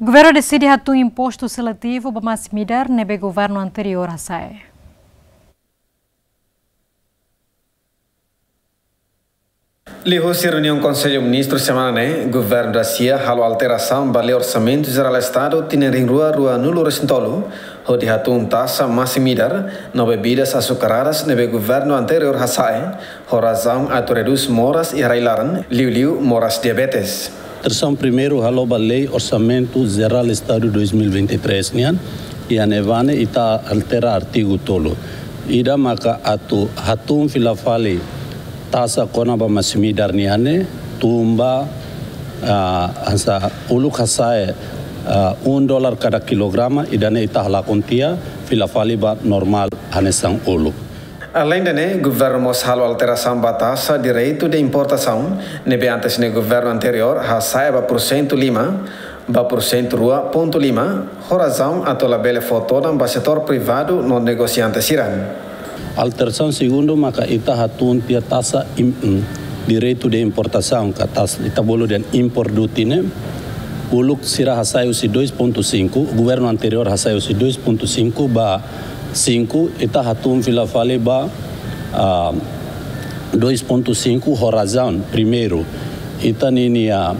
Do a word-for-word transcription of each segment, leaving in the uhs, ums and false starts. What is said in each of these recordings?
Governu deside hatún impostu seletivu ba masin-midar ne'ebé governu anteriór hasa'e. Liuhusi reuniaun Konsellu Ministru semana ne'e, Governu Dasia halo alterasaun ba Lei Orsamentu Jerál Estadu tinan rihun rua ruanulu-resin-tolu, hodi hatún taxa masin-midar no bebidas açucaradas ne'ebé governu anteriór hasa'e, ho razaun atu redús moras iha rai-laran, liuliu moras diabetes. Alterasaun primeiru halo ba Lei Orsamentu Jerál Estadu dois mil e vinte e três nian, iha ne'ebá ne'e ita altera artigu tolu. Ida maka atu hatún fila fali taxa kona-ba masin-midar nian ne'e, tun ba, ah, hanesan uluk hasa'e, ah, um dólar kada kilograma, ida-ne'e ita halakon tiha, fila fali ba normál hanesan uluk. Aleinde ne'e, governu mós halo alterasaun ba taxa direitu de importasaun, ne'ebé antes ne'e governu anteriór hasa'e ba porsentu lima, ba porsentu rua pontu lima, ho razaun atu labele fó todan ba setór privadu no negosiante sira. Alterasaun segundu maka ita hatún tiha taxa im-, mm, direitu de importasaun, ka taxa ita bolu dehan import duty ne'e. Uluk sira hasa'e husi dois pontu cinco, governu anteriór hasa'e husi dois pontu cinco ba cinco, ita hatún fila fali ba, ah, dois pontu cinco ho razaun. Primeiru, ita ninia,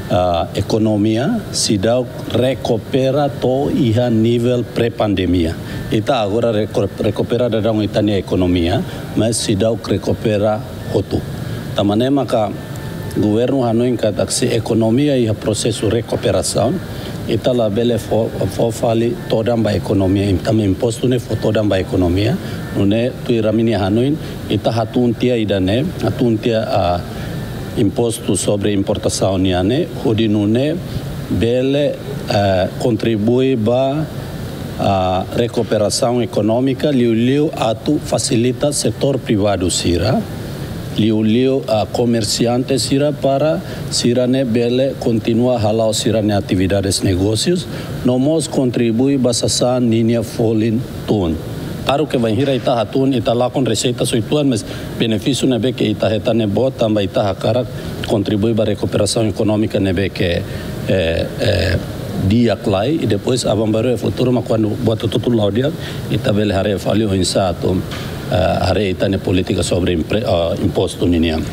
ah, ekonomia seidauk rekupera to'o iha nivel pré-pandemia. Ita agora reko-, rekupera daudaun ita-nia ekonomia, mas seidauk rekupera hotu. Tanba ne'e maka governu hanoin katak se ekonomia iha prosesu rekuperasaun, ita labele fó, fó fali todan ba ekonomia, im-, tanba impostu ne'e fó todan ba ekonomia, nune'e tuir ami-nia hanoin, ita hatún tiha ida-ne'e, hatún tiha, ah, impostu sobre importasaun nian ne'e, hodi nune'e bele, ah, kontribui ba, ah, rekuperasaun ekonómika, liuliu atu fasilita setór privadu sira, liuliu, ah, komersiante sira para sira-ne'e bele kontinua hala'o sira-nia atividades negósius, no mós kontribui ba sasán ninia folin tun. Klaru ke bainhira ita hatún, ita lakon reseita sira uitoan, mas benefísiu ne'ebé ke ita hetan ne'e boot tanba ita hakarak kontribui ba rekuperasaun ekonómika ne'ebé ke, eh, eh, di'ak lai, i depois aban-bainrua iha futuru mak kuandu buat hotu-hotu la'o di'ak, ita bele haree fali oinsá atu, eh, haree ita-nia polítika sobre impre-, eh, impostu ninian.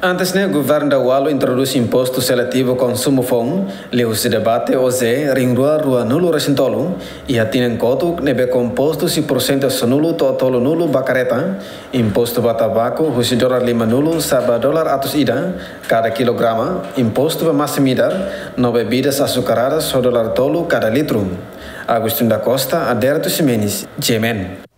Antes ne'e, governu Daualu introdús impostu seletivu konsumu foun, liuhusi debate OJE rihun rua ruanulu-resin-tolu, iha tinan kotuk ne'ebé kompostu husi porsentu sanulu to'o tolunulu ba kareta, impostu ba tabaku husi dólar limanulu sa'e ba dólar atus ida kada kilograma, impostu ba masin-midar no bebidas açucaradas ho dólar tolu kada litru. Agostinho da Costa, Adérito Ximenes, G M N.